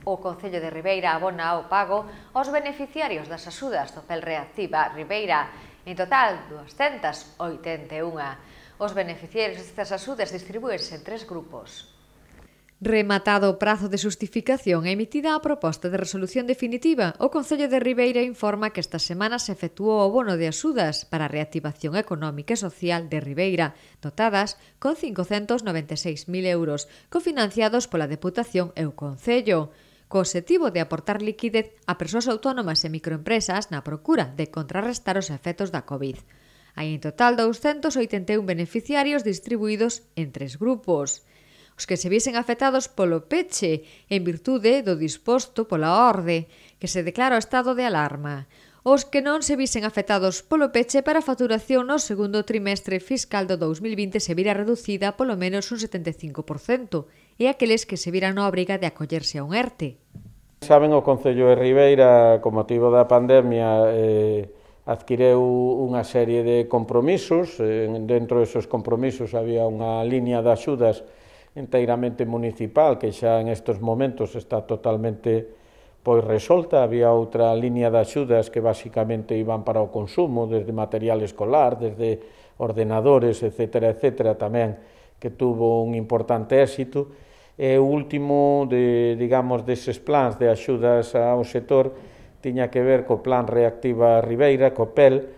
O Concello de Ribeira abona o pago aos beneficiarios das axudas do PEL Reactiva Ribeira, en total 281. Os beneficiarios destas axudas distribúense en 3 grupos. Rematado o prazo de xustificación e emitida a proposta de resolución definitiva, o Concello de Ribeira informa que esta semana se efectuou o bono de axudas para a reactivación económica e social de Ribeira, dotadas con 596.000 euros, cofinanciados pola Deputación e o Concello, co obxectivo de aportar liquidez a persoas autónomas e microempresas na procura de contrarrestar os efectos da COVID. Hai en total 281 beneficiarios distribuídos en 3 grupos. Os que se viesen afectados polo peche en virtude do disposto pola orde, que se declara o estado de alarma. Os que non se visen afectados polo peche para a facturación no segundo trimestre fiscal do 2020 se vira reducida polo menos un 75%, e aqueles que se viran na obriga de acollerse a un ERTE. Saben, o Concello de Ribeira, con motivo da pandemia, adquireu unha serie de compromisos. Dentro desos compromisos había unha liña de axudas inteiramente municipal, que xa en estes momentos está totalmente resolta. Había outra liña de axudas que basicamente iban para o consumo, desde material escolar, desde ordenadores, etcétera, tamén, que tuvo un importante éxito. E o último, deses plans de axudas ao sector, tiña que ver co Plan Reactiva Ribeira, co PEL,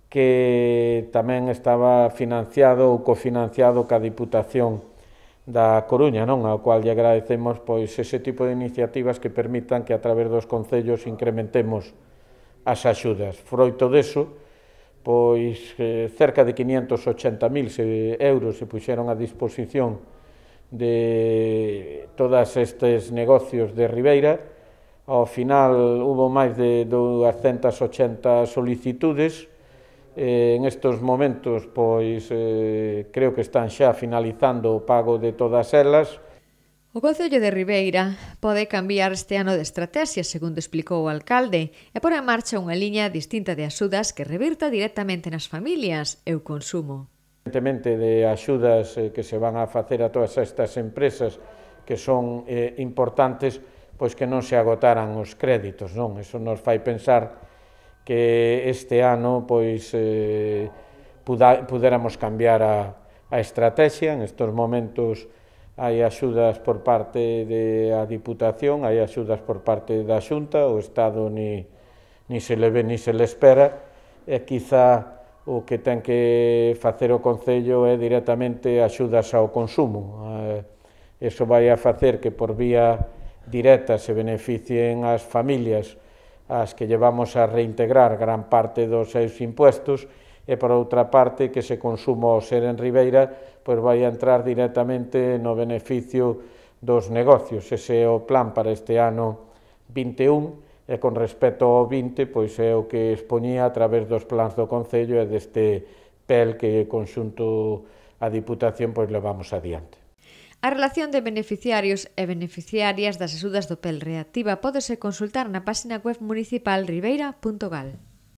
que tamén estaba financiado ou cofinanciado ca Diputación da Coruña, ao cual lle agradecemos ese tipo de iniciativas que permitan que a través dos concellos incrementemos as axudas. Froito deso, cerca de 580.000 euros se puxeron a disposición de todos estes negocios de Ribeira. Ao final, hubo máis de 280 solicitudes. En estes momentos, creo que están xa finalizando o pago de todas elas. O Concello de Ribeira pode cambiar este ano de estratexia, segundo explicou o alcalde, e pôr en marcha unha liña distinta de axudas que revirta directamente nas familias e o consumo. Evidentemente, de axudas que se van a facer a todas estas empresas que son importantes, que non se agotaran os créditos, non? Eso nos fai pensar que este ano pudéramos cambiar a estrategia. En estes momentos hai axudas por parte da Diputación, hai axudas por parte da Xunta, o Estado ni se le ve ni se le espera, e quizá o que ten que facer o Concello é directamente axudas ao consumo. Eso vai a facer que por vía directa se beneficien as familias as que llevamos a reintegrar gran parte dos seus impuestos, e por outra parte que ese consumo ao ser en Ribeira vai a entrar directamente no beneficio dos negocios. Ese é o plan para este ano 21, e con respecto ao 20, é o que expoñía a través dos plans do Concello e deste PEL que conxunto a Diputación levamos adiante. A relación de beneficiarios e beneficiarias das axudas do PEL Reactiva pódese consultar na página web municipal ribeira.gal.